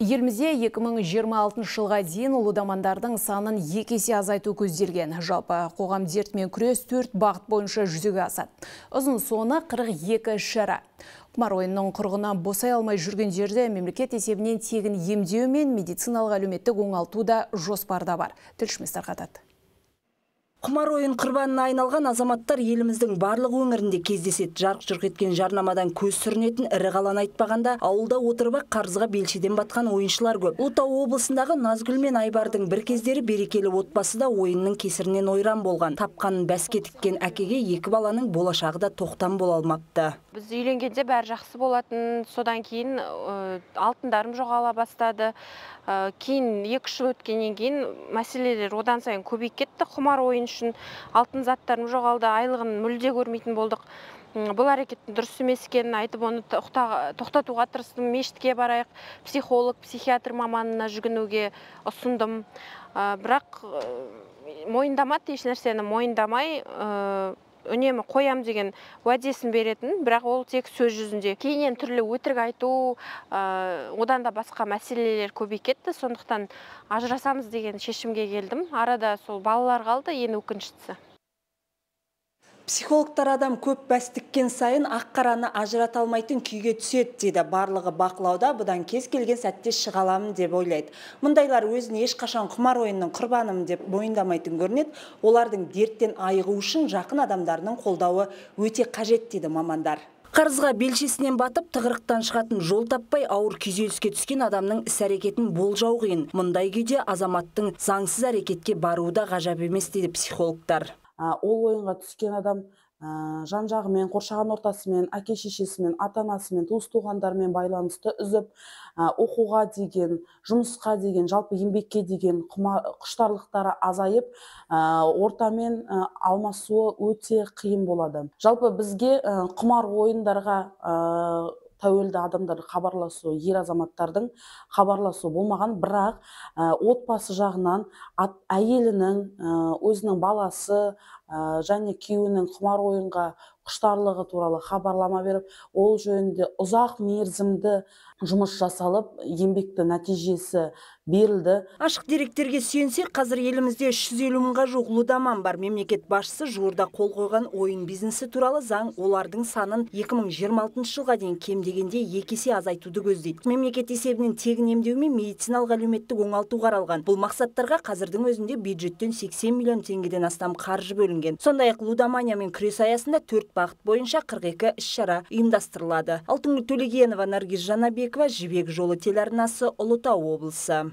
Елімізде 2026 жылға дейін ұлы санын 2 есе азайту көзделген. Жалпы қоғам дертімен күрес 4 бағыт бойынша жүзеге асады. Ұзын соны 42 шара. Құмар ойынның құрығынан босай алмай жүргендерді мемлекет есебінен тегін емдеу мен медициналық әлеуметтік оңалту да жоспарда бар. Тілшіміз тарқатады. Құмар ойын құрбанына айналған азаматтар еліміздің барлық өңірінде кездеседі. Жарқ-жұрқ еткен жарнамадан көз сүрінетін ірі қаланы айтпағанда, ауылда отырып қарызға белшеден батқан ойыншылар көп. Ұлытау облысындағы Назгүл мен Айбардың бір кездері берекелі отбасы да ойынның кесірінен ойран болған. Тапқанын бәске тіккен әкеге екі баланың болашағы да тоқтам бола алмапты. Біз үйленгенде бәрі жақсы болатын, содан кейін алтындарым жоғала бастады. Кейін 2 жыл өткеннен кейін мәселелер одан сайын көбейіп кетті. Құмар ойын үшін алтын заттарым жоғалды, айлығын мүлде көрмейтін болдық. Бұл әрекеттің дұрыс емес екенін айтып, оны тоқтатуға тырыстым. Мешітке барайық, психолог, психиатр маманына жүгінуге ұсындым. Бірақ мойындамады, еш нәрсені мойындамай, үнемі қоям деген уәдесін беретін, бірақ ол тек сөз жүзінде. Кейіннен түрлі өтірік айту, одан да басқа мәселелер көбейіп кетті. Сондықтан ажырасамыз деген шешімге келдім. Арада сол балалар қалды, ең өкініштісі. Психологтар адам көп бәс тіккен сайын ақ-қараны ажырата алмайтын күйге түседі дейді. Барлығы бақылауда, бұдан кез келген сәтте шыға аламын деп ойлайды. Мұндайлар өзін ешқашан құмар ойынның құрбанымын деп мойындамайтын көрінеді. Олардың дерттен айығу үшін жақын адамдарының қолдауы өте қажет дейді мамандар. Қарызға белшесінен батып, тығырықтан шығатын жол таппай ауыр күйзеліске түскен адамның іс-әрекетін болжау қиын. Мұндай күйде азаматтың заңсыз әрекетке баруы да ғажап емес дейді психологтар. Ол ойынға түскен адам жан-жағымен, қоршаған ортасымен, әке-шешесімен, ата-анасымен, туыс-туғандармен байланысты үзіп, оқуға деген, жұмысқа деген, жалпы еңбекке деген құштарлықтары азайып, ортамен алмасуы өте қиын болады. Жалпы бізге құмар ойындарға тәуелді адамдар хабарласу, ер азаматтардың хабарласу болмаған, бірақ отбасы жағынан әйелінің, өзінің баласы және күйеуінің құмар ойынға құштарлығы туралы хабарлама беріп, ол жөнінде ұзақ мерзімді жұмыс жасалып, еңбекті нәтижесі берілді. Ашық деректерге сүйенсек, қазір елімізде 350 мыңға жуық лудаман бар. Мемлекет басшысы жуырда қол қойған ойын бизнесі туралы заң олардың санын 2026 жылға дейін кем дегенде 2 есе азайтуды көздейді. Мемлекет есебінен тегін емдеу мен медициналық әлеуметтік оңалту қаралған. Бұл мақсаттарға қазірдің өзінде бюджеттен 80 миллион теңгеден астам қаржы бөлінген. Сондай-ақ лудоманиямен күрес аясында 4 бағыт бойынша 42 іс-шара ұйымдастырылады. Алтынгүл Төлегенова, Наргиз Жанабекова, Жібек жолы телеарнасы, Ұлытау облысы.